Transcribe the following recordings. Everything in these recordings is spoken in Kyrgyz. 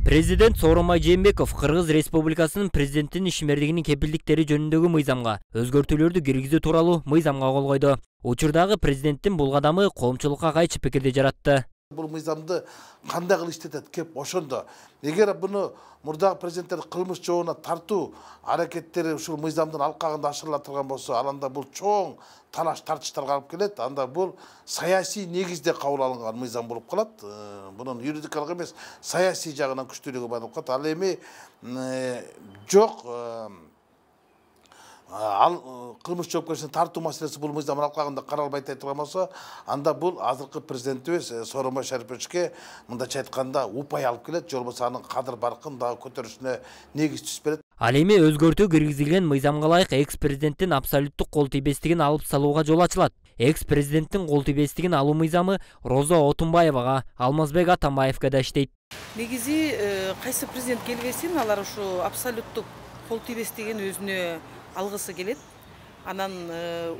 Президент Сооронбай Жээнбеков Кыргыз Республикасынын президенттин ишмердигинин кепилдиктери жөнүндөгү мыйзамга өзгөртүүлөрдү киргизүү тууралуу мыйзамга кол койду. Учурдагы президенттин бул кадамы коомчулукка кайчы пикирди жаратты. Бул мыйзамды кандай кылып иштетет кеп ошондо. Эгер буну мурдагы президенттер кылмыш жообуна тартуу аракеттери ушул мыйзамдын алкагында ашырыла турган болсо, анда бул чоң талаш тартыштарга алып келет. Анда бул саясий негизде кабыл алынган мыйзам болуп калат. Бунун юридикалык эмес, саясий жагынан күчтүүлүгү бар болуп калат. Ал эми жок кылмыш жоопкерчилигине тартуу маселеси бул мыйзамдын алкагында каралбай турган болсо, анда бул азыркы президентибиз Сооронбай Шариповичке мындайча айтканда упай алып келет, же болбосо анын кадыр баркын дагы көтөрүшүнө негиз түзүп берет. Ал эми өзгөртүү киргизилген мыйзамга ылайык экс-президенттин абсолюттук кол тийбестигин алып салууга жол ачылат. Экс-президенттин кол тийбестигин алуу мыйзамы Розо Отунбаевага, Алмазбек Атамбаевге да иштейт. Негизи кайсы президент келбесин, алар ушу абсолюттук кол тийбестигин өзүнө алгысы келет. Анан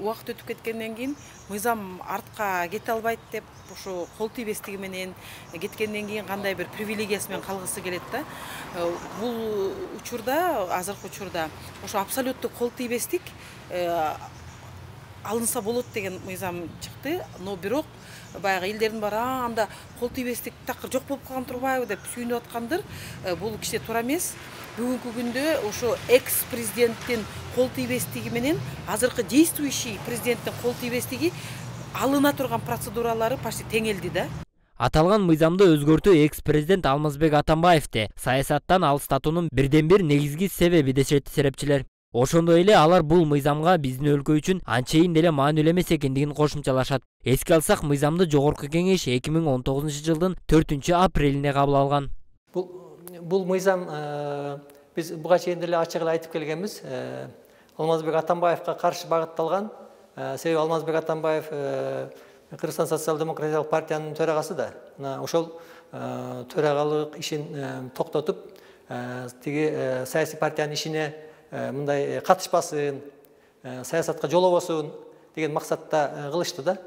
убакыт өтүп кеткенден кийин мыйзам артка кете албайт деп, ушу кол тийбестиги менен кеткенден кийин кандай бир привилегиясы менен калгысы келет да. Бул учурда, азыркы учурда ошо абсолюттук кол тийбестик алынса болот деген мыйзам чыкты. Но бирок баягы элдердин баары анда кол тийбестик такыр жок болуп калган турбайбы деп сүйүнүп аткандыр. Бул кичине туура эмес. Бүгүнкү күндө ошо экс-президенттин кол тийбестиги менен азыркы действующий президенттин кол тийбестиги алына турган процедуралары почти теңелди да. Аталган мыйзамды өзгөртүү экс-президент Алмазбек Атамбаевди саясаттан алыстатуунун бирден бир негизги себеби дешет серепчилер. Ошондой эле алар бул мыйзамга биздин өлкө үчүн анчейин деле маанилүү эмес экендигин кошумчалашат. Эске алсак, мыйзамды Жогорку Кеңеш 2019-жылдын 4-апрелинде кабыл алган. Бул мыйзам биз буга чейин деле ачык эле айтып келгенбиз. Алмазбек Атамбаевга каршы багытталган. Себеби Алмазбек Атамбаев Кыргызстан социал-демократиялык партиянын төрагасы да. Ошол төрагалык ишин токтотуп, тиги саясий партиянын ишине мындай катышпасын, саясатка жолобосун деген максатта кылышты да.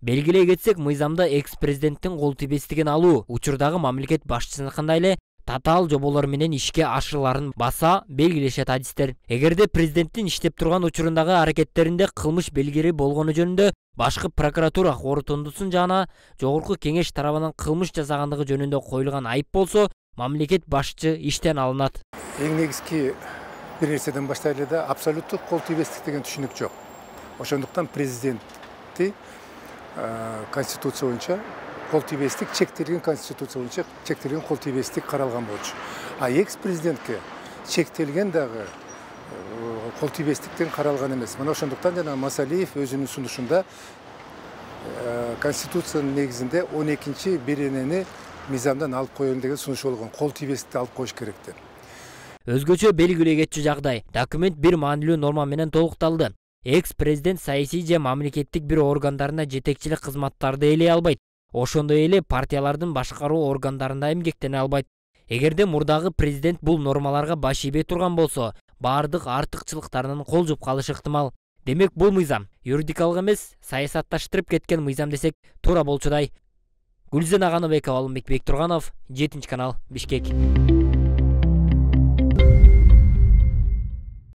Белгилей кетсек, мыйзамда экс-президенттин кол тийбестигин алуу учурдагы мамлекет башчысыныкындай эле татаал жоболор менен ишке ашырыларын баса белгилешет адистер. Эгерде президенттин иштеп турган учурундагы аракеттеринде кылмыш белгири болгону жөнүндө башкы прокуратура корутундусун жана Жогорку Кеңеш тарабынан кылмыш жасагандыгы жөнүндө коюлган айып болсо, мамлекет башчы иштен алынат. Эң негизги бир нерседен баштайлы да, абсолюттук кол тийбестик деген түшүнүк жок. Ошондуктан президентти Конституция боюнча кол тийбестик чектелген, Конституция боюнча чектелген кол тийбестик каралган болчу. А экс-президентке чектелген дагы кол тийбестиктен каралган эмес. Мына ошондуктан жана Масалиев өзүнүн сунушунда Конституциянын негизинде 12-беренени мыйзамдан алып коелу деген сунуш болгон. Кол тийбестикти алып коюш керек деп. Өзгөчө белгилей кетчү жагдай, документ бир маанилүү норма менен толукталды. Экс-президент саясий же мамлекеттик бир органдарына жетекчилик кызматтарды ээлей албайт. Ошондой эле партиялардын башкаруу органдарында эмгектене албайт. Эгерде мурдагы президент бул нормаларга баш ийбей турган болсо, баардык артыкчылыктарынан кол жууп калышы ыктымал. Демек, бул мыйзам юридикалык эмес, саясатташтырып кеткен мыйзам десек туура болчудай. Гүлзен Аганыбекова, Алымбек Бектурганов, 7 канал, Бишкек.